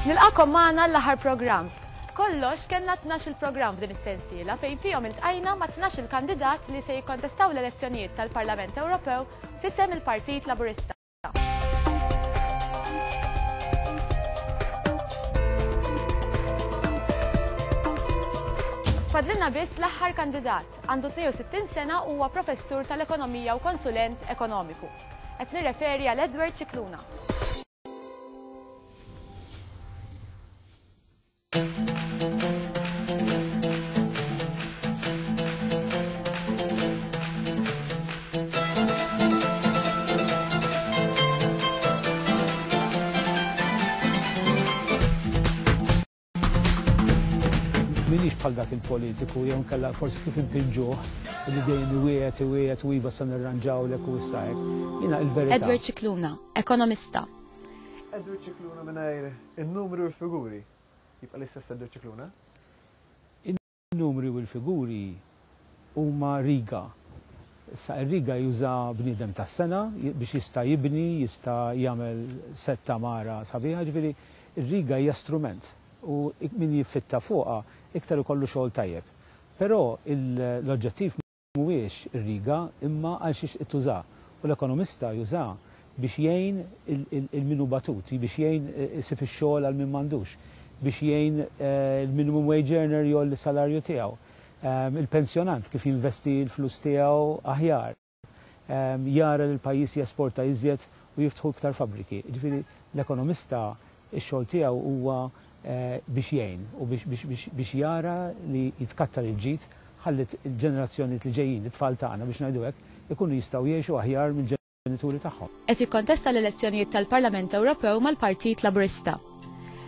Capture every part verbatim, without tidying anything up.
Nilqagħkom magħna l-aħħar programm. Kollox kellna tnax il-programm f'din is-sensiela fejn fihom iltqajna ma' tnax il-kandidat li se jikkontestaw l-elezzjonijiet tal-Parlament Ewropew f'isem il-Partit Laburista. Fadlilna biss l-aħħar kandidat, għandu tnejn u sittin sena u huwa professur tal-ekonomija u konsulent ekonomiku. Qed nirreferi għal Edward Scicluna. Minix bħal dak il-politiku, jew nkella forsi kif impinġuh, li dejjem iwiegħed, iwiegħed u iva se nirranġawlek u issa hekk. Jiena il-verità. Edward Scicluna, ekonomista. Edward Scicluna mingħajr in-numri u l-figuri. Jibqa' l-istess Edward Scicluna? In-numri u l-figuri huma riga. Issa ir-riga juża bniedem tas-sena biex jista' jibni, jista' jagħmel setta mara sabiħa, ġifieri ir-riga hija strument u min jiffitta fuqha iktar ikollu xogħol tajjeb. Però l-oġġettiv mhuwiex ir-riga imma għal xiex tuża. U l-ekonomista juża biex jgħin il-minu batut, biex jgħin isib ix-xogħol għal min m'għandux, biex jgħin il-minimum wage earner jgħolli s-salarju tiegħu, il-pensjonant kif jinvesti l-flus tiegħu aħjar, jara li l-pajjiż jesporta iżjed u jiftħu iktar fabbriki. Ġifieri l-ekonomista x-xogħol tiegħu huwa biex jgħin u biex jara li jitkattar il-ġid ħalli l-ġenerazzjoni li ġejjin, it-tfal tagħna biex ngħidu hekk, ikunu jistgħu jgħixu aħjar mill-ġenituri tagħhom. Qed jikkontesta l-elezzjonijiet tal-Parlament Ewropew mal-Partit Laburista.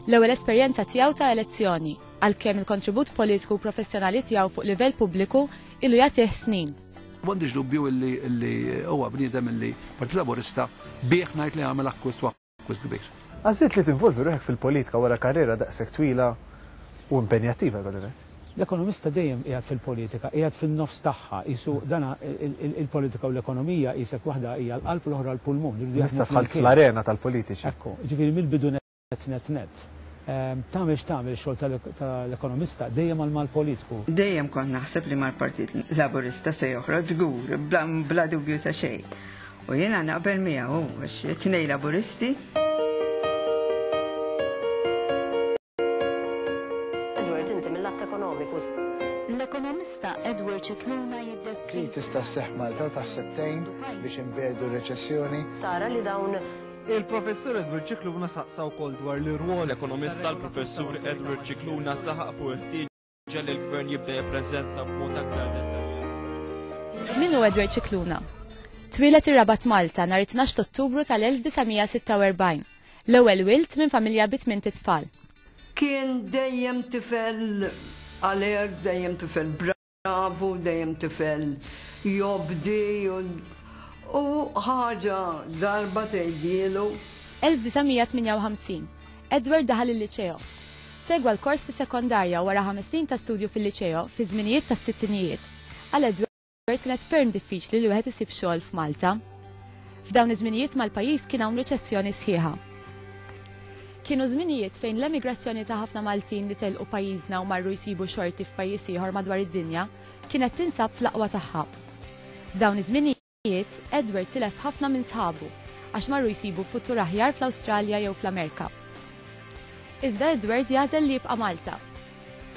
L-ewwel esperjenza tiegħu ta' elezzjoni, għalkemm il-kontribut politiku u professjonali tiegħu fuq livell pubbliku ilu jagħtih snin. M'għandix dubju illi huwa bniedem illi Partit Laburista bih ngħid li għamel akkwist u akkwist kbir. Għażilt li tinvolvi ruħek fil-politika wara karriera daqshekk twila u impenjattiva, jkolli ngħid. L-ekonomista dejjem qiegħed fil-politika, qiegħed fin-nofs tagħha, qisu dana il-politika u l-ekonomija qisek waħda hija l-qalb u l-oħra l-pulmun. Issa dħalt fl-arena tal-politiċi. Ekku, ġifieri mill-bidu net net net. Tagħmel x'tagħmel xogħol tal-ekonomista dejjem għal mal-politiku. Dejjem kont naħseb li mal-Partit Laburista se joħroġ żgur, bla dubju ta' xejn. U jiena naqbel miegħu għax tnejn Laburisti. Edward, inti mill-att ekonomiku. L-ekonomista Edward Scicluna jiddeskrivi. Din tista' sseħħ Malta u taħseb tgħin biex inbedu r-reċessjoni. Tara li dawn Il-professur Edward Scicluna saqsa wkoll dwar l-irwol. L-ekonomista l-professur Edward Scicluna saħaq fuq il-ħtieġa li l-gvern jibda jippreżenta b'mod aktar dettaljat. Min hu Edward Scicluna? Twieled ir-Rabat Malta nhar it-tnax ta' Ottubru tal-elf disa' mija sitta u erbgħin. L-ewwel wild minn familja bi tmien tfal. Kien dejjem tifel alert, dejjem tifel bravu, dejjem tifel jobdi u ħaġa darba tgħidilu. elf disa' mija tmienja u ħamsin. Edward daħal il-liċeo. Segwa l-kors fis-sekondarja wara ħames snin ta' studju fil-liċeo fi żminijiet tas-sittinijiet. Għal Edward kienet ferm diffiċli li wieħed isib xogħol f'Malta. F'dawn iż-żminijiet mal-pajjiż kien hawn riċessjoni sħiħa. Kienu żminijiet fejn l-emigrazzjoni ta' ħafna Maltin li telqu pajjiżna u marru jsibu xorti f'pajjiż ieħor madwar id-dinja kienet tinsab fl-aqwa tagħha. F'dawn iż-żminijiet Edward tilef ħafna minn sħabu għax marru jsibu futur aħjar fl-Awstralja jew fl-Amerika. Iżda Edward jagħżel li jibqa' Malta.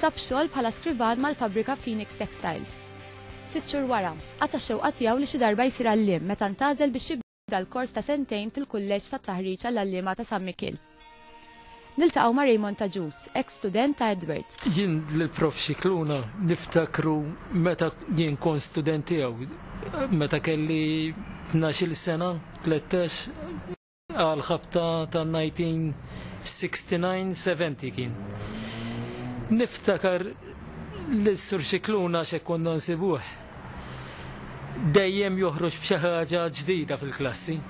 Sab xogħol bħala skrivan mal-fabbrika Phoenix Textiles. Sitt xhur wara, qata' x-xewqa tiegħu li xi darba jsir għalliem meta ntgħażel biex jibda l-kors ta' sentejn fil-kulleġġ tat-taħriġ għall-għalliema ta' San Mikiel. Niltaqgħu ma' Raymond Agius, ex-student ta' Edward. Jien l-prof Scicluna niftakru meta jien kont student tiegħu, meta kelli tnax-il sena, tlettax, għal ħabta ta' nineteen sixty-nine seventy kien. Niftakar l-Sur Scicluna x'hekk konna nsibuh. Dejjem joħroġ b'xi ħaġa ġdida fil-klassi,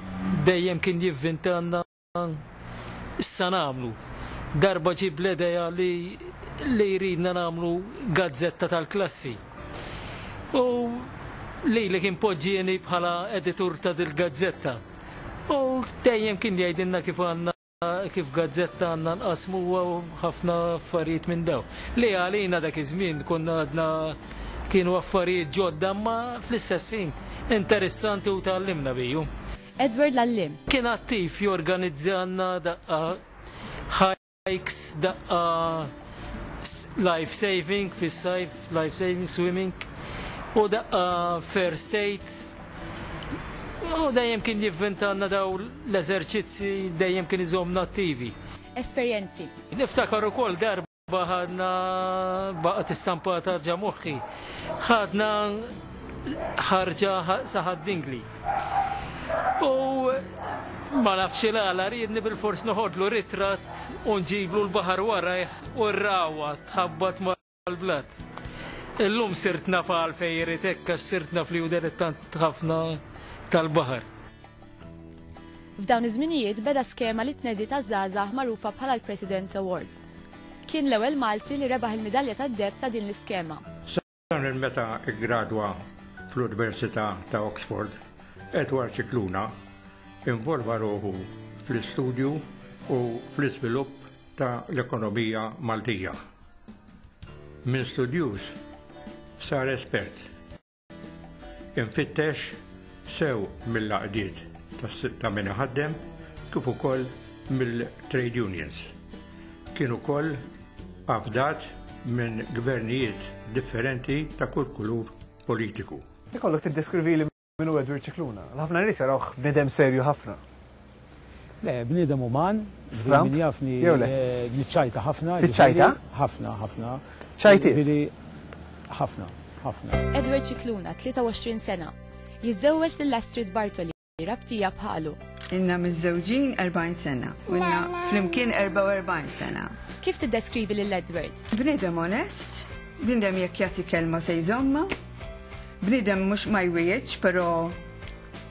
dejjem kien jivvintanna issa nagħmlu. Darba ġib l-idea li, li jridna nagħmlu gazzetta tal-klassi. U li li kien poġġieni bħala editur ta' dil-gazzetta. U dejjem kien jgħidilna kif għandna kif gazzetta għandna nqasmuha u ħafna affarijiet minn daw. Li għalina dak iż-żmien konna għadna kienu affarijiet ġodda, ma fl-istess ħin interessanti u tgħallimna biju. Edward l-għalliem. Kien attiv jorganizzanna daqqa hikes, daqqa life saving fis-sajf, life saving swimming u daqqa first aid. U dejjem kien jivvintanna daw l-eżerċizzi, dejjem kien iżomna attivi. Esperjenzi. Niftakar ukoll darba ħadna baqgħet istampata ġa moħħi. Ħadna ħarġa sa Ħad-Dingli. U ma nafx il-għala riedni bil-fors noħodlu ritratt u nġiblu l-baħar warajh u r-rawa tħabbat mal-blat. Illum sirt naf għalfejn irid hekk għax sirt naf li hu dilettant ħafna tal-baħar. F'dawn iż-żminijiet beda skema li tnedi taż-żgħażagħ magħrufa bħala l-President's Award. Kien l-ewwel Malti li rebaħ il-midalja tad-deheb ta' din l-iskema. Sa minn meta ggradwa fl-Università ta' Oxford, Edward Scicluna involva ruħu fl-istudju u fl-iżvilupp ta' l-ekonomija Maltija. Minn studjuż sar espert. Infittex sew mill-għaqdiet ta' min iħaddem kif ukoll mill-trade unions. Kien ukoll afdat minn gvernijiet differenti ta' kull kulur politiku. Ikollok tiddeskrivi li min hu Edward Scicluna. Ħafna nies jarawh bniedem serju ħafna. Le, bniedem uman, Stramp? min jafni Jew le? eh, niċċajta ħafna. Tiċċajta? ġifieri, Ħafna, ħafna. ċajti? Ġifieri, ħafna, ħafna. Edward Scicluna, tlieta u għoxrin sena, jiżżewweġ lil Astrid Bartoli, rabtija bħalu. Ilna miżżewġin erbgħin sena u ilna flimkien erbgħa u erbgħin sena. Kif tiddeskrivi lil Edward? Bniedem onest, bniedem jekk jagħti kelma se jżomma, bniedem mhux ma jwiegħedx, però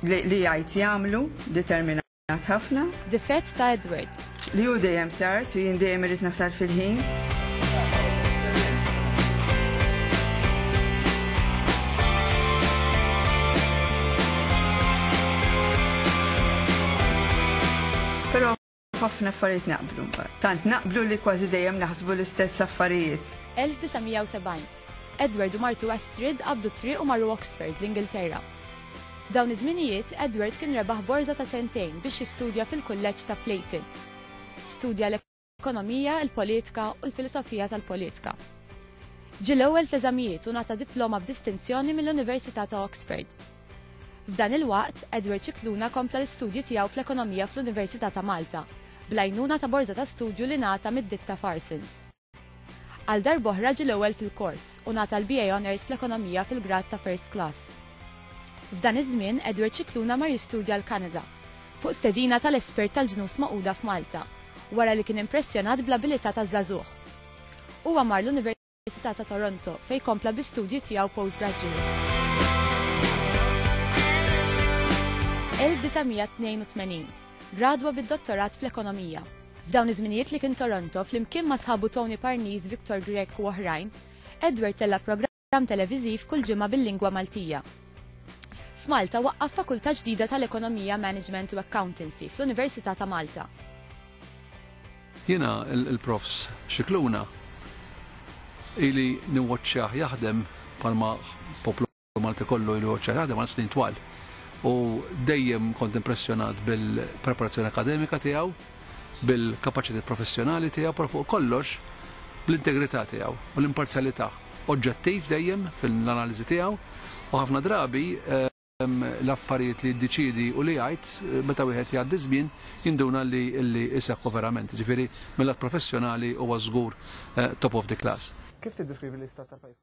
li, li jgħid jagħmlu, determinat ħafna. Difett ta' Edward. Li hu dejjem tard u jien dejjem irid nasal fil-ħin. Però ħafna affarijiet naqblu mbagħad. Tant naqblu li kważi dejjem naħsbu l-istess affarijiet. elf disa' mija u sebgħin. Edward u martu Astrid qabdu triq u marru Oxford, l-Ingilterra. Dawn iż-żminijiet Edward kien rebaħ borża ta' sentejn biex jistudja fil-kulleġġ ta' Clayton. Studja l-ekonomija, il-politika u l-filosofija tal-politika. Ġie l-ewwel f'eżamijiet u ngħata diploma b'distinzjoni mill-Università ta' Oxford. F'dan il-waqt, Edward Scicluna kompla l-istudji tiegħu fl-ekonomija fl-Università ta' Malta, bl-għajnuna ta' borża ta' studju li ngħata mid-ditta Farsons. Għal darb'oħra ġie l-ewwel fil-kors u ngħata l-B A Honours fl-ekonomija fil-grad ta' First Class. F'dan iż-żmien Edward Scicluna mar jistudja l-Kanada, fuq stedina tal-espert tal-Ġnus Magħquda f'Malta, wara li kien impressjonat bl-abilità taż-żagħżugħ. Huwa mar l-Università ta' Toronto fejn kompla bl-istudji tiegħu postgraduate. elf disa' mija tnejn u tmenin. Gradwa bid-dottorat fl-ekonomija. F'dawn iż-żminijiet li kien Toronto flimkien ma' sħabu Tony Parnis, Victor Grech u oħrajn, Edward tella programm televiżiv kull ġimgħa bil-lingwa Maltija. F'Malta waqqaf fakultà ġdida tal-Ekonomija, Management u Accountancy fl-Università ta' Malta. Jiena il-profs Scicluna ili niwatchjah jaħdem bħalma poplu Malti kollu ilu jwaċċjah jaħdem għal snin twal. U dejjem kont impressjonat bil-preparazzjoni akademika tiegħu, bil-kapaċità professjonali tiegħu, però fuq kollox bl-integrità tiegħu u l-imparzjalità. Oġġettiv dejjem fil-analiżi tiegħu u ħafna drabi ehm, l-affarijiet li jiddeċidi u li jgħid eh, meta wieħed jgħaddi żmien jinduna li li jseħħu verament. Ġifieri mill-lat professjonali huwa żgur eh, top of the class. Kif tiddeskrivi l-istat tal-pajjiż?